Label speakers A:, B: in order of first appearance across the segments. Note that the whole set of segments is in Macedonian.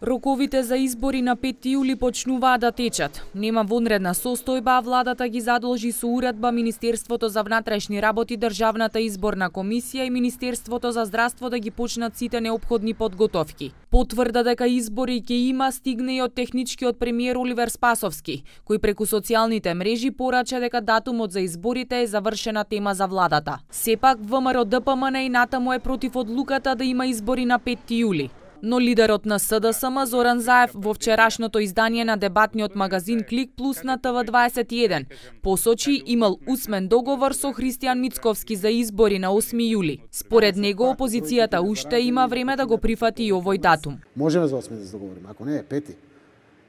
A: Роковите за избори на 5 јули почнуваат да течат. Нема вонредна состојба, а владата ги задолжи со уредба Министерството за внатрешни работи, Државната изборна комисија и Министерството за здравство да ги почнат сите неопходни подготовки. Потврда дека избори ќе има стигне и од техничкиот премиер Оливер Спасовски, кој преку социјалните мрежи порача дека датумот за изборите е завршена тема за владата. Сепак ВМРО-ДПМН и натаму е против одлуката да има избори на 5 јули. Но лидерот на СДСМ Зоран Заев во вчерашното издание на дебатниот магазин Клик Плюс на ТВ21 посочи имал усмен договор со Христијан Мицковски за избори на 8 јули. Според него опозицијата уште има време да го прифати и овој датум.
B: Можеме за 8 да се договориме, ако не е 5.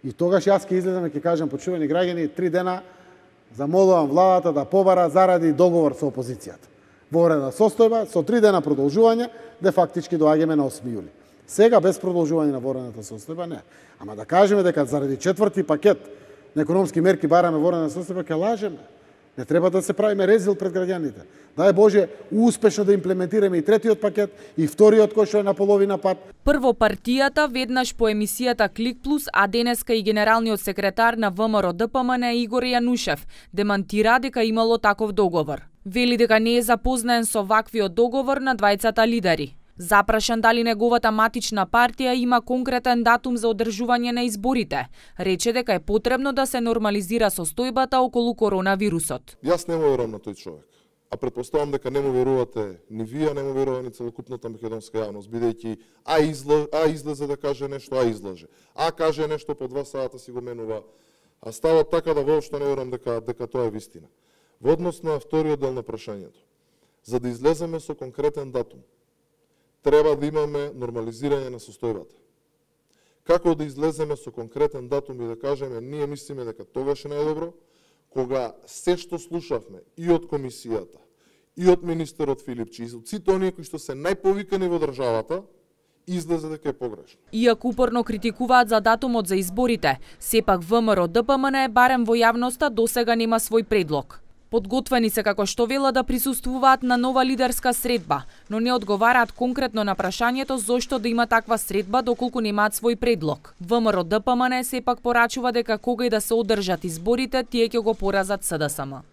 B: И тогаш јас ќе излезам и ќе кажам, почувани граѓани, 3 дена замолувам владата да побара заради договор со опозицијата. Во вредна состојба, со 3 дена продолжување, де фактички доаѓаме на 8 јули. Сега без продолжување на ворената состојба не. Ама да кажеме дека заради четврти пакет на економски мерки бараме ворена состојба, ќе лажеме. Не треба да се правиме резил пред граѓаните. Дај Боже, успешно да имплементираме и третиот пакет и вториот кој што е на половина пат.
A: Прво партијата, веднаш по емисијата Клик Плюс, а денеска и генералниот секретар на ВМРО-ДПМН Игор Јанушев демантира дека имало таков договор. Вели дека не е запознаен со ваквиот договор на двајцата лидери. Запрашан дали неговата матична партија има конкретен датум за одржување на изборите, рече дека е потребно да се нормализира состојбата околу коронавирусот.
C: Јас не му верувам на тој човек, а претпоставам дека не му верувате ни вие, не му верува ни целокупната македонска јавност, бидејќи излезе да каже нешто, излаже. Каже нешто по 2 сата си го менува, а става така да воопшто не верувам дека тоа е вистина. Во однос на вториот дел на прашањето, за да излеземе со конкретен датум, треба да имаме нормализирање на состојбата. Како да излеземе со конкретен датум и да кажеме, ние мислиме дека тогаш е најдобро, кога се што слушавме и од комисијата, и од министерот Филипчи, и од сите оние кои што се најповикани во државата, излезе дека е погрешно.
A: Иако упорно критикуваат за датумот за изборите, сепак ВМРО-ДПМН е барем во јавноста досега нема свој предлог. Подготвени се како што вела да присуствуваат на нова лидерска средба, но не одговараат конкретно на прашањето зошто да има таква средба доколку немаат свој предлог. ВМРО-ДПМН сепак порачува дека кога и да се одржат изборите, тие ќе го поразат СДСМ.